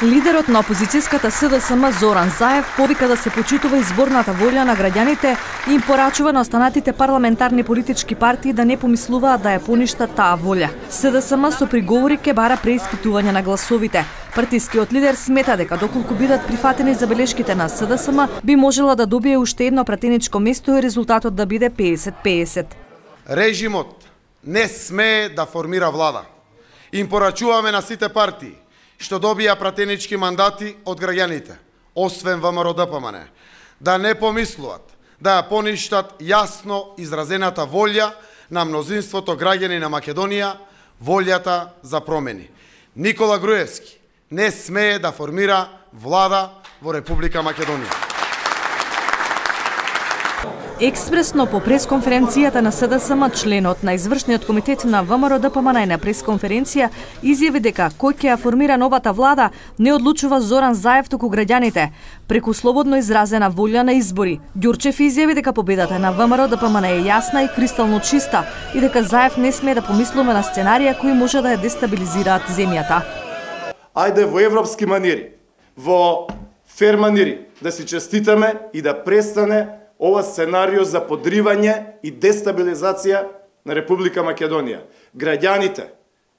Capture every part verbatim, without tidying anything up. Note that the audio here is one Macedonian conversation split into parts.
Лидерот на опозицијската СДСМ Зоран Заев повика да се почитува изборната волја на граѓаните и им порачува на останатите парламентарни политички партии да не помислуваат да ја поништат таа волја. СДСМ со приговори ке бара преиспитување на гласовите. Партискиот лидер смета дека доколку бидат прифатени забелешките на СДСМ, би можела да добие уште едно пратеничко место и резултатот да биде педесет педесет. Режимот не смее да формира влада. Им порачуваме на сите партии што добија пратенички мандати од граѓаните, освен ВМРО Д П М Н, да не помислуват да ја поништат јасно изразената волја на мнозинството граѓани на Македонија, волјата за промени. Никола Груевски не смее да формира влада во Република Македонија. Експресно по пресконференцијата на СДСМ, членот на извршниот комитет на ВМРО Д П М Н на пресконференција изјави дека кој ќе ја формира новата влада не одлучува Зоран Заев, туку граѓаните, преку слободно изразена волја на избори. Ѓурчев изјави дека победата на ВМРО Д П М Н е јасна и кристално чиста и дека Заев не смее да помислува на сценарија кои може да ја дестабилизираат земјата. Ајде во европски манири, во фер манири да си честитаме и да престане ова сценарио за подривање и дестабилизација на Република Македонија. Граѓаните,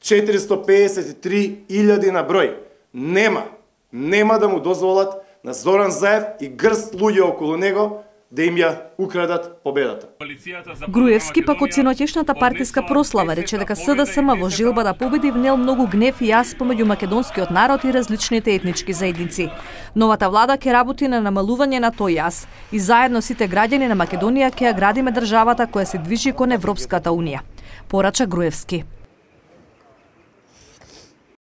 четиристо педесет и три илјади на број, нема, нема да му дозволат на Зоран Заев и грст луѓе околу него да им ја украдат победата. Груевски пак од синоќешната партиска прослава рече дека СДСМ во желба да победи внел многу гнев и јас помеѓу македонскиот народ и различните етнички заедници. Новата влада ќе работи на намалување на тој јас и заедно сите граѓани на Македонија ќе ја градиме државата која се движи кон Европската унија, порача Груевски.